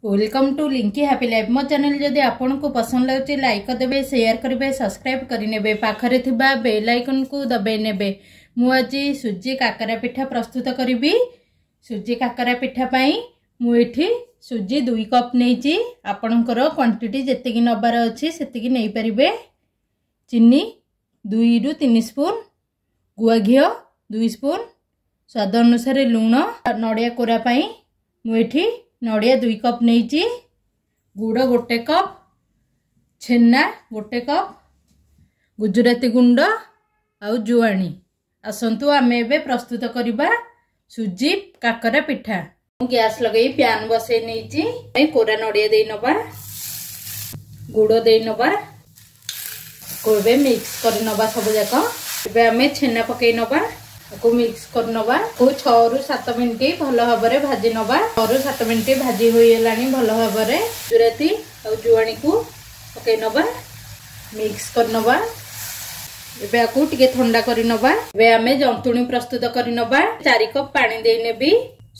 Welcome to Linki happy life. ମୋ channel ଯଦି ଆପଣଙ୍କୁ ପସନ୍ଦ ଲାଗୁଛି, ଲାଇକ୍ କରିଦେବେ, ସେୟାର କରିବେ, ସବସ୍କ୍ରାଇବ୍ କରିନେବେ, ପାଖରେ ଥିବା ବେଲ୍ ଆଇକନ୍କୁ ଦବାଇ ନେବେ। ମୁଁ ଆଜି ସୁଜି କାକରା ପିଠା ପ୍ରସ୍ତୁତ କରିବି। ସୁଜି କାକରା ପିଠା ପାଇଁ ମୁଁ ଏଠି ସୁଜି 2 କପ୍ ନେଇଛି। ଆପଣଙ୍କର କ୍ୱାଣ୍ଟିଟି ଯେତିକି ନେବାର ଅଛି ସେତିକି ନେଇପାରିବେ। ଚିନି 2ରୁ 3 ସ୍ପୁନ୍, ଗୁଆ ଘିଅ 2 ସ୍ପୁନ୍, ସ୍ୱାଦ ଅନୁସାରେ ଲୁଣ। ନଡ଼ିଆ କୋରା ପାଇଁ ମୁଁ ଏଠି ନଡ଼ିଆ 2 କପ୍ ନେଇଛି, ଗୁଡ଼ 1 କପ୍, ଛେନା 1 କପ୍, ଗୁଜୁରାତି ଗୁଣ୍ଡ ଆଉ ଜୁଆଣି। ଆସନ୍ତୁ ଆମେ ଏବେ ପ୍ରସ୍ତୁତ କରିବା ସୁଜି କାକରା ପିଠା। ମୁଁ ଗ୍ୟାସ୍ ଲଗେଇ ପ୍ୟାନ୍ ବସେଇ ନେଇଛି। କୋରା ନଡ଼ିଆ ଦେଇ ନେବା, ଗୁଡ଼ ଦେଇ ନେବା, ଏବେ ମିକ୍ସ କରି ନେବା ସବୁ ଯାକ। ଏବେ ଆମେ ଛେନା ପକେଇ ନେବା, ତାକୁ ମିକ୍ସ କରିନେବା। ତାକୁ 6ରୁ 7 ମିନିଟ୍ ଭଲ ଭାବରେ ଭାଜି ନେବା। 6ରୁ 7 ମିନିଟ୍ ଭାଜି ହୋଇଗଲାଣି ଭଲ ଭାବରେ। ଗୁଜୁରାତି ଆଉ ଜୁଆଣିକୁ ପକେଇ ନେବା, ମିକ୍ସ କରିନେବା। ଏବେ ଆକୁ ଟିକେ ଥଣ୍ଡା କରିନେବା। ଏବେ ଆମେ ଜନ୍ତୁଣି ପ୍ରସ୍ତୁତ କରିନେବା। 4 କପ୍ ପାଣି ଦେଇ ନେବି।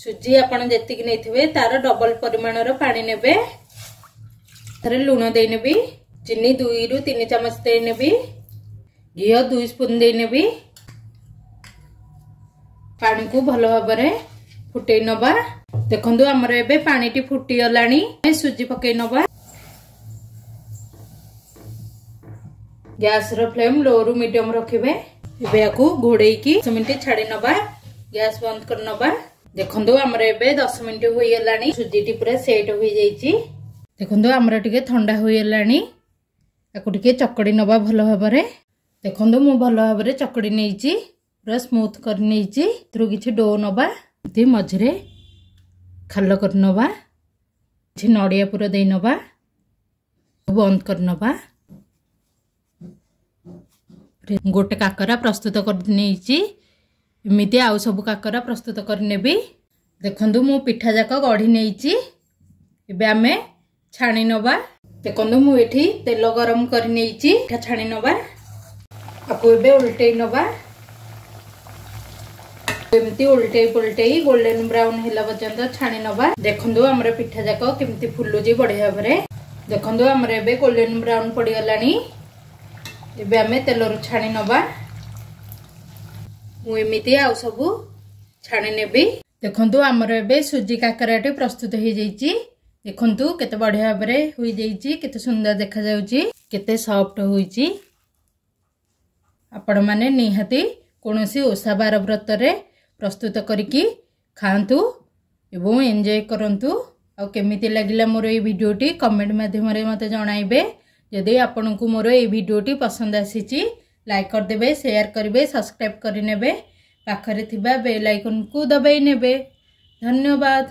ସୁଜି ଆପଣ ଯେତିକି ନେଇଥିବେ ତାର ଡବଲ ପରିମାଣର ପାଣି ନେବେ। ଥରେ ଲୁଣ ଦେଇନେବି, ଚିନି 2ରୁ 3 ଚାମଚ ଦେଇନେବି, ଘିଅ 2 ସ୍ପୁନ୍ ଦେଇନେବି। ପାଣିକୁ ଭଲ ଭାବରେ ଫୁଟେଇ ନବା। ଦେଖନ୍ତୁ, ଆମର ଏବେ ପାଣିଟି ଫୁଟିଗଲାଣି। ସୁଜି ପକେଇ ନବା। ଗ୍ୟାସର ଫ୍ଲେମ୍ ଲୋ ରୁ ମିଡିୟମ ରଖିବେ। ଏବେ ୟାକୁ ଘୋଡେଇକି 10 ମିନିଟ୍ ଛାଡି ନବା। ଗ୍ୟାସ ବନ୍ଦ କରି ନବା। ଦେଖନ୍ତୁ, ଆମର ଏବେ 10 ମିନିଟ୍ ହୋଇଗଲାଣି। ସୁଜିଟି ପୁରା ସେଟ୍ ହୋଇଯାଇଛି। ଦେଖନ୍ତୁ, ଆମର ଟିକେ ଥଣ୍ଡା ହୋଇଗଲାଣି। ତାକୁ ଟିକେ ଚକଡି ନବା ଭଲ ଭାବରେ। ଦେଖନ୍ତୁ, ମୁଁ ଭଲ ଭାବରେ ଚକଡି ନେଇଛି, ପୁରା ସ୍ମୁଥ କରି ନେଇଛି। ଏଥିରୁ କିଛି do ନବା, ଏମିତି ମଝିରେ ଖାଲ କରି ନବା, କିଛି ନଡ଼ିଆ ପୁର ଦେଇ ନବା, ବନ୍ଦ କରି ନବା। ଗୋଟେ କାକରା ପ୍ରସ୍ତୁତ କରି ନେଇଛି। ଏମିତି ଆଉ ସବୁ କାକରା ପ୍ରସ୍ତୁତ କରିନେବି। ଦେଖନ୍ତୁ, ମୁଁ ପିଠା ଯାକ ଗଢ଼ି ନେଇଛି। ଏବେ ଆମେ ଛାଣି ନବା। ଦେଖନ୍ତୁ, ମୁଁ ଏଠି ତେଲ ଗରମ କରି ନେଇଛି। ପିଠା ଛାଣି ନବା। ଆକୁ ଏବେ ଓଲଟେଇ ନବା। ଏମିତି ଓଲଟେଇ ପୋଲଟେଇ ଗୋଲ୍ଡେନ ବ୍ରାଉନ ହେଲା ପର୍ଯ୍ୟନ୍ତ ଛାଣି ନବା। ଦେଖନ୍ତୁ, ଆମର ପିଠା ଯାକ କେମିତି ଫୁଲୁଛି ବଢିଆ ଭାବରେ। ଦେଖନ୍ତୁ, ଆମର ଏବେ ଗୋଲ୍ଡେନ ବ୍ରାଉନ ପଡିଗଲାଣି। ଏବେ ଆମେ ତେଲରୁ ଛାଣି ନବା। ମୁଁ ଏମିତି ଆଉ ସବୁ ଛାଣି ନେବି। ଦେଖନ୍ତୁ, ଆମର ଏବେ ସୁଜି କାକରାଟି ପ୍ରସ୍ତୁତ ହେଇଯାଇଛି। ଦେଖନ୍ତୁ, କେତେ ବଢିଆ ଭାବରେ ହୋଇଯାଇଛି, କେତେ ସୁନ୍ଦର ଦେଖାଯାଉଛି, କେତେ ସଫ୍ଟ ହୋଇଛି। ଆପଣମାନେ ନିହାତି କୌଣସି ଓଷା ବାର ବ୍ରତରେ ପ୍ରସ୍ତୁତ କରିକି ଖାଆନ୍ତୁ ଏବଂ ଏନ୍ଜୟ କରନ୍ତୁ। ଆଉ କେମିତି ଲାଗିଲା ମୋର ଏଇ ଭିଡ଼ିଓଟି କମେଣ୍ଟ ମାଧ୍ୟମରେ ମୋତେ ଜଣାଇବେ। ଯଦି ଆପଣଙ୍କୁ ମୋର ଏଇ ଭିଡ଼ିଓଟି ପସନ୍ଦ ଆସିଛି, ଲାଇକ୍ କରିଦେବେ, ସେୟାର କରିବେ, ସବସ୍କ୍ରାଇବ୍ କରିନେବେ, ପାଖରେ ଥିବା ବେଲ୍ ଆଇକନ୍କୁ ଦବାଇ ନେବେ। ଧନ୍ୟବାଦ।